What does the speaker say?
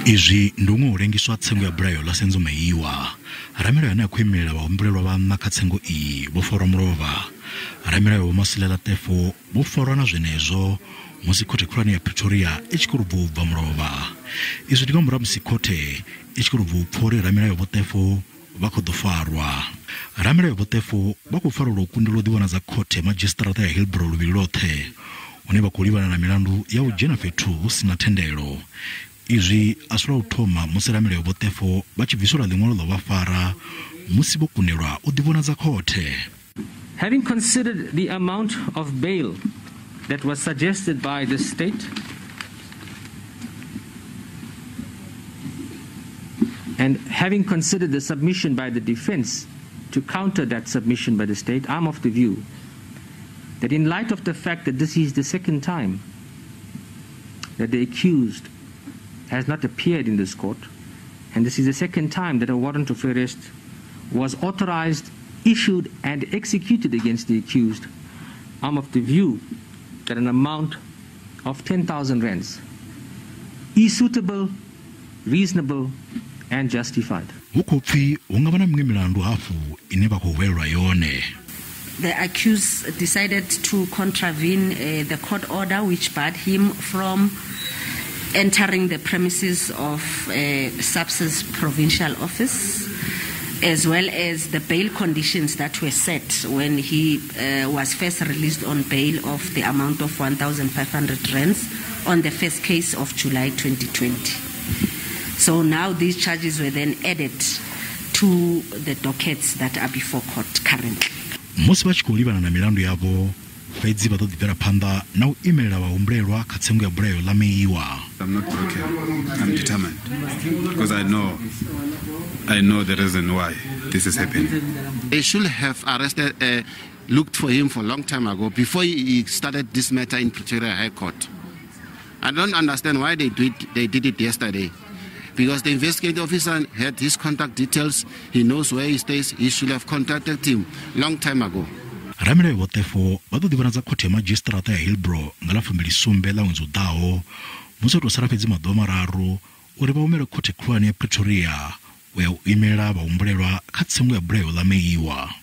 Izwi ndi huṅwe u lengiswa tsengo ya bulayo ḽa Senzo Meyiwa. Ramilayo ane a khou imelela vhahumbulelwa vhaṋa kha tsengo iyi vho farwa mulovha. Ramilayo Vho Masilela Teffo vho farwa na zwenezwo musi khothe khulwane ya Pretoria i tshi khou ri bva u bva mulovha. Izwi ndi nga murahu ha musi khothe i tshi khou ri bva u pfa uri ramilayo Vho Teffo vha khou ḓo farwa. Ramilayo Vho Teffo vha khou farelwa u kundelwa u ḓivhonadza khothe ya madzhisiṱiraṱa ya Hillbrow luvhili lwoṱhe, hune vha khou livhana na milandu ya u dzhena fhethu hu si na thendelo. Izwi a si lwa u thoma musi ramilayo Vho Teffo vha tshi bviselwa ḽiṅwalo ḽa u vha fara musi vho kundelwa u ḓivhonadza khothe. Having considered the amount of bail that was suggested by the state and having considered the submission by the defense to counter that submission by the state, I'm of the view that in light of the fact that this is the second time that the accused has not appeared in this court, and this is the second time that a warrant of arrest was authorized, issued, and executed against the accused, I'm of the view that an amount of 10,000 rands is suitable, reasonable, and justified. Hu khou pfi hu nga vha na miṅwe milandu hafhu ine vha khou hwelelwa yone. The accused decided to contravene the court order which barred him from entering the premises of SAPS's provincial office, as well as the bail conditions that were set when he was first released on bail of the amount of 1,500 rands on the first case of July 2020. So now these charges were then added to the dockets that are before court currently. Musi vha tshi khou livhana na milandu yavho, fhedzi vha ḓo ḓi bvela phanḓa na u imelela vhahumbulelwa kha tsengo ya bulayo ḽa Meyiwa. I'm not broken. I'm determined because I know the reason why this is happening. They should have arrested, looked for him for a long time ago before he started this matter in Pretoria High Court. I don't understand why they did it yesterday, because the investigating officer had his contact details. He knows where he stays. He should have contacted him long time ago. Ramilayo Vho Teffo vha ḓo ḓivhonadza khothe ya madzhisiṱiraṱa ya Hillbrow nga ḽa 27 ḽa ṅwedzi u ḓaho, musi ho tou sala fhedzi maḓuvha mararu uri vha humele khothe khulwane ya Pretoria u ya u imela vhahumbulelwa kha tsengo ya bulayo ḽa Meyiwa.